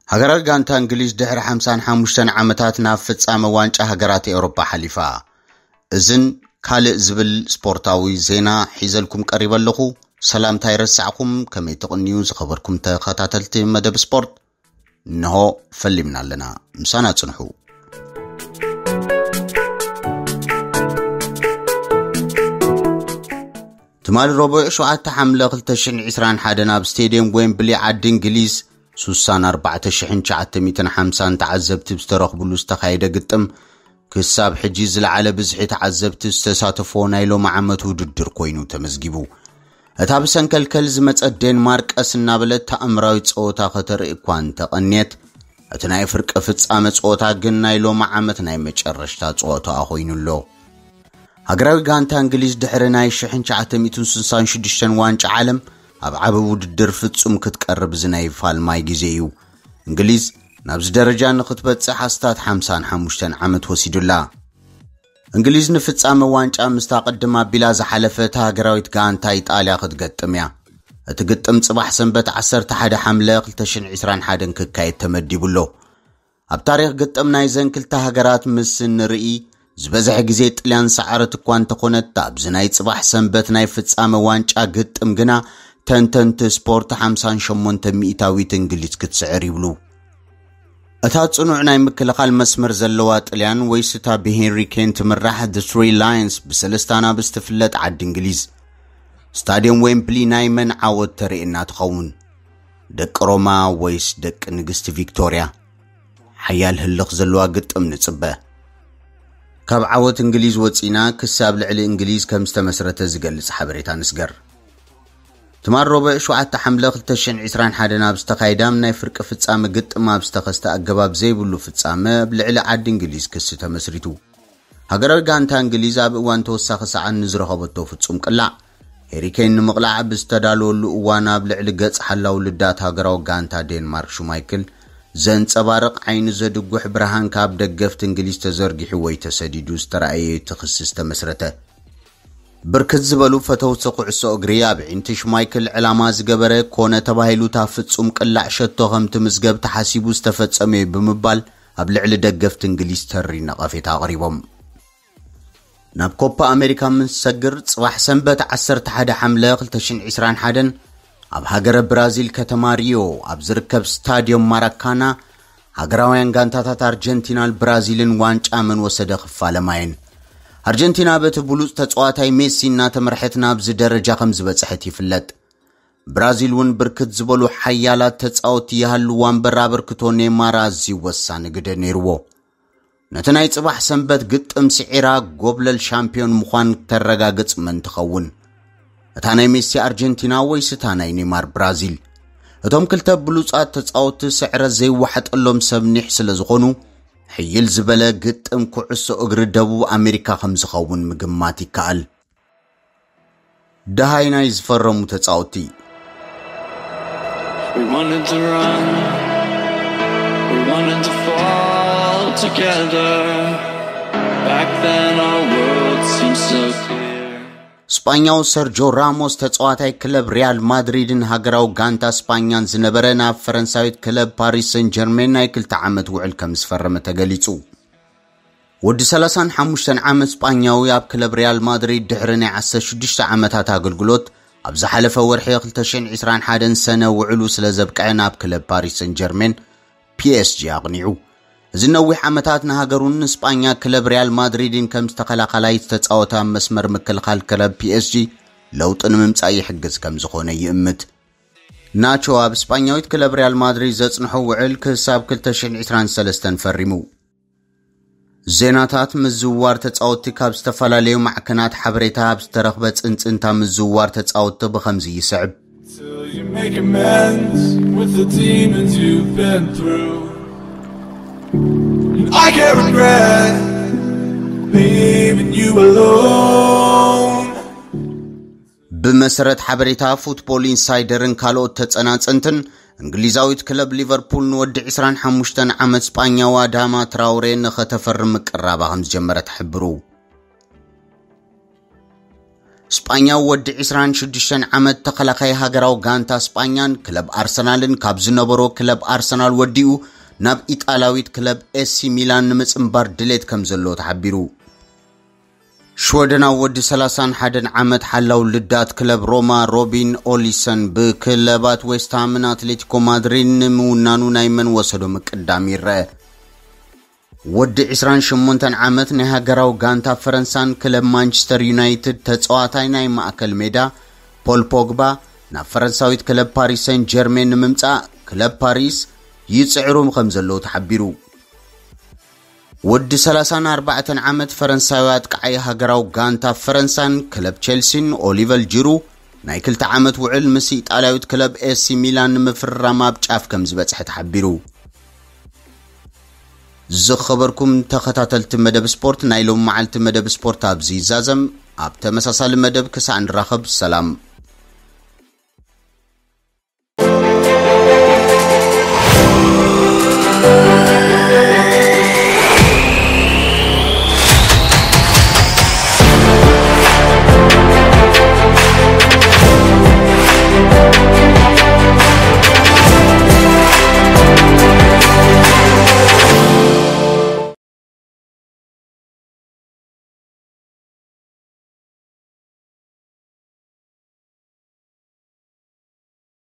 ሃገራዊ ጋንታ እንግሊዝ ድሕሪ ሓምሳን ሓሙሽተን ዓመታት ናብ ፍጻመ ዋንጫ ሃገራት ኤውሮጳ ሓሊፋ። እዝን ካልእ ዝብል ስፖርታዊ ዜና ሒዘልኩም ቀሪበ ኣለኹ። ሰላምታ ይረሳዕኩም፣ ከመይ ትቕንዩ ዝኸበርኩም ተኸታተልቲ መደብ ስፖርት? እንሆ ፈሊምና ኣለና፣ ምሳና ጽንሑ። ትማሊ ረቡዕ ሸውዓተ ሓምለ ክልተ ሽሕን ዕስራን ሓደን ኣብ ስቴድየም ዌምብሊ ዓዲ እንግሊዝ ሱሳን ኣርባዕተ ሽሕን ትሽዓተ ሚእትን ሓምሳን ተዓዘብቲ ዝተረኽብሉ ዝተኻየደ ግጥም፣ ክሳብ ሕጂ ዝለዓለ ብዝሒ ተዓዘብቲ ዝተሳተፎ ናይ ሎሚ ዓመት ውድድር ኮይኑ ተመዝጊቡ። እታ ብሰንከልከል ዝመጸት ዴንማርክ ቀስ እናበለት ተኣምራዊ ጸወታ ከተርኢ እኳ እንተቐንየት፣ እቲ ናይ ፍርቂ ፍጻመ ጸወታ ግን ናይ ሎሚ ዓመት ናይ መጨረሽታ ጸወታኣ ኮይኑ ኣሎ። ሃገራዊ ጋንታ እንግሊዝ ድሕሪ ናይ ሽሕን ትሽዓተ ሚእትን ስሳን ሽዱሽተን ዋንጫ ዓለም ኣብ ዓቢ ውድድር ፍጹም ክትቀርብ እዚ ናይ ፋልማይ ግዜ እዩ። እንግሊዝ ናብዚ ደረጃ ንኽትበጽሕ ኣስታት ሓምሳን ሓሙሽተን ዓመት ወሲዱላ። እንግሊዝ ንፍጻመ ዋንጫ ምስታ ቅድም ኣቢላ ዝሓለፈት ሃገራዊት ጋንታ ኢጣልያ ክትገጥም እያ። እቲ ግጥም ጽባሕ ሰንበት ዓሰርተ ሓደ ሓምለ ክልተ ሽሕን ዕስራን ሓደን ክካየድ ተመዲቡ ኣሎ። ኣብ ታሪኽ ግጥም ናይዘን ክልተ ሃገራት ምስ እንርኢ፣ ዝበዝሐ ግዜ ጥልያን ሰዓረት እኳ እንተኾነት፣ ኣብዚ ናይ ጽባሕ ሰንበት ናይ ፍጻመ ዋንጫ ግጥም ግና ተንተንቲ ስፖርት ሓምሳን ሸሞንተ ሚእታዊት እንግሊዝ ክትስዕር ይብሉ። እታ ጽኑዕ ናይ ምክልኻል መስመር ዘለዋ ጥልያን ወይስ እታ ብሄንሪ ኬን ትምራሕ The Three Lions ብሰለስተ ኣናብስ ትፍለጥ ዓዲ እንግሊዝ? ስታድየም ዌምብሊ ናይ መን ዓወት ተርእየና ትኸውን? ደቂ ሮማ ወይስ ደቂ ንግስቲ ቪክቶርያ? ሓያል ህልኽ ዘለዋ ግጥም ንጽበ። ካብ ዓወት እንግሊዝ ወጺና ክሳብ ልዕሊ እንግሊዝ ከም ዝተመስረተ ዝገልጽ ሓበሬታ ንስገር። ትማል ረቡዕ ሸውዓተ ሓምለ ክልተ ሽሕን ዕስራን ሓደን ኣብ ዝተኻየዳም ናይ ፍርቂ ፍጻመ ግጥም ኣብ ዝተኸስተ ኣገባብ ዘይብሉ ፍጻመ ኣብ ልዕሊ ዓዲ እንግሊዝ ክሲ ተመስሪቱ። ሃገራዊ ጋንታ እንግሊዝ ኣብ እዋን ተወሳኺ ሰዓት ንዝረኸበቶ ፍጹም ቅላዕ፣ ሄሪኬን ንምቕላዕ ብዝተዳለወሉ እዋን ኣብ ልዕሊ ገጽ ሓላው ልዳት ሃገራዊ ጋንታ ዴንማርክ ሹማይክል ዘንጸባርቕ ዓይኒ ዘድጉሕ ብርሃን ካብ ደገፍቲ እንግሊዝ ተዘርጊሑ ወይ ተሰዲዱ ዝተራእየ እቲ ክሲ ዝተመስረተ። ብርክት ዝበሉ ፈተውቲ ኩዕሶ እግሪ ኣብ ዒንቲ ሽማይክል ዕላማ ዝገበረ ኮነ ተባሂሉ እታ ፍጹም ቅላዕ ሸቶ ከም ትምዝገብ ተሓሲቡ ዝተፈጸመ እዩ ብምባል ኣብ ልዕሊ ደገፍቲ እንግሊዝ ተሪ ነቐፌታ ኣቕሪቦም። ናብ ኮፓ ኣሜሪካ ምስ ሰግር ጽባሕ ሰንበት ዓሰርተ ሓደ ሓምለ ክልተ ሽሕን ዕስራን ሓደን ኣብ ሃገረ ብራዚል ከተማ ሪዮ ኣብ ዝርከብ ስታድዮም ማራካና ሃገራውያን ጋንታታት ኣርጀንቲናን ብራዚልን ዋንጫ መን ወሰደ ክፋለማ እየን። ኣርጀንቲና በቲ ብሉጽ ተጻዋታይ ሜሲ እናተመርሐት ናብዚ ደረጃ ከም ዝበጽሐት ይፍለጥ። ብራዚል እውን ብርክት ዝበሉ ሓያላት ተጻወትቲ ይሃልዋ እምበር ኣበርክቶ ኔማር ኣዝዩ ወሳኒ ግደ ነይርዎ። ነቲ ናይ ጽባሕ ሰንበት ግጥም ስዒራ ጎብለል ሻምፒዮን ምዃን ተረጋግጽ መን ትኸውን? እታ ናይ ሜሲ ኣርጀንቲና ወይስ እታ ናይ ኔማር ብራዚል? እቶም ክልተ ብሉጻት ተጻወትቲ ስዕረት ዘይወሓጠሎም ሰብ ኒሕ ስለ ዝኾኑ፣ ሕይል ዝበለ ግጥም ኩዕሶ እግሪ ደቡብ ኣሜሪካ ከም ዝኸውን ምግማት ይከኣል። ደሃይ ናይ ዝፈረሙ ተጻወትቲ። We wanted to run, we wanted to fall together. Back then our world seemed so clear. ስጳኛዊ ሰርጆ ራሞስ ተጻዋታይ ክለብ ሪያል ማድሪድን ሃገራዊ ጋንታ ስጳኛን ዝነበረ ናብ ፈረንሳዊት ክለብ ፓሪስ ሰን ጀርሜን ናይ ክልተ ዓመት ውዕል ከም ዝፈረመ ተገሊጹ። ወዲ ሰላሳን ሓሙሽተን ዓመት ስጳኛዊ ኣብ ክለብ ሪያል ማድሪድ ድሕሪ ናይ ዓሰርተ ሽዱሽተ ዓመታት ኣገልግሎት ኣብ ዝሓለፈ ወርሒ ክልተ ሽሕን ዕስራን ሓደን ሰነ ውዕሉ ስለ ዘብቅዐ ናብ ክለብ ፓሪስ ሰን ጀርሜን ፒኤስጂ ኣቕኒዑ። እዚ ነዊሕ ዓመታት ንሃገሩን ንስጳኛ ክለብ ሪያል ማድሪድን ከም ዝተኸላኸላይ ዝተጻወተ ኣብ መስመር ምክልኻል ክለብ ፒኤስጂ ለውጢ ንምምጻእ ይሕግዝ ከም ዝኾነ ይእምት። ናቾ ኣብ ስጳኛዊት ክለብ ሪያል ማድሪድ ዘጽንሖ ውዕል ክሳብ ክልተ ሽሕን ዕስራን ሰለስተን ፈሪሙ። ዜናታት ምዝውዋር ተጻወትቲ ካብ ዝተፈላለዩ ማዕከናት ሓበሬታ ኣብ ዝተረኽበ ጽንጽንታ ምዝውዋር ተጻወትቲ ብኸምዚ ይስዕብ። Till you make amends with the demons you've been through. And I can't regret leaving you alone. ብመሰረት ሓበሬታ ፉትቦል ኢንሳይደርን ካልኦት ተጸናጸንትን፣ እንግሊዛዊት ክለብ ሊቨርፑል ንወዲ ዕስራን ሓሙሽተን ዓመት ስጳኛዊ ኣዳማ ትራውሬ ንኸተፈርም ምቅራባ ከም ዝጀመረት ትሕብሩ። ስጳኛዊ ወዲ ዕስራን ሽዱሽተን ዓመት ተኸላኻይ ሃገራዊ ጋንታ ስጳኛን ክለብ ኣርሰናልን ካብ ዝነበሮ ክለብ ኣርሰናል ወዲኡ ናብ ኢጣልያዊት ክለብ ኤሲ ሚላን ንምጽንባር ድሌት ከም ዘለዎ ተሓቢሩ። ሽወደናዊ ወዲ ሰላሳን ሓደን ዓመት ሓላው ልዳት ክለብ ሮማ ሮቢን ኦሊሰን ብክለባት ዌስትሃምን ኣትሌቲኮ ማድሪድ ንምውናኑ ናይ መን ወሰዶ ምቅዳም ይረአ። ወዲ ዕስራን ሸሞንተን ዓመት ናይ ሃገራዊ ጋንታ ፈረንሳን ክለብ ማንቸስተር ዩናይትድ ተጻዋታይ ናይ ማእከል ሜዳ ፖል ፖግባ ናብ ፈረንሳዊት ክለብ ፓሪስ ሰን ጀርሜን ንምምጻእ ክለብ ፓሪስ ይጽዕሩ ከም ዘለዉ ተሓቢሩ። ወዲ ሰላሳን ኣርባዕተን ዓመት ፈረንሳዊ ኣጥቃዓይ ሃገራዊ ጋንታ ፈረንሳን ክለብ ቼልሲን ኦሊቨር ጂሩ ናይ ክልተ ዓመት ውዕል ምስ ኢጣልያዊት ክለብ ኤሲ ሚላን ንምፍርራም ኣብ ጫፍ ከም ዝበጽሐ ተሓቢሩ። ዝኸበርኩም ተኸታተልቲ መደብ ስፖርት፣ ናይ ሎም መዓልቲ መደብ ስፖርት ኣብዚ ይዛዘም። ኣብ ተመሳሳሊ መደብ ክሳዕ ንራኸብ ሰላም።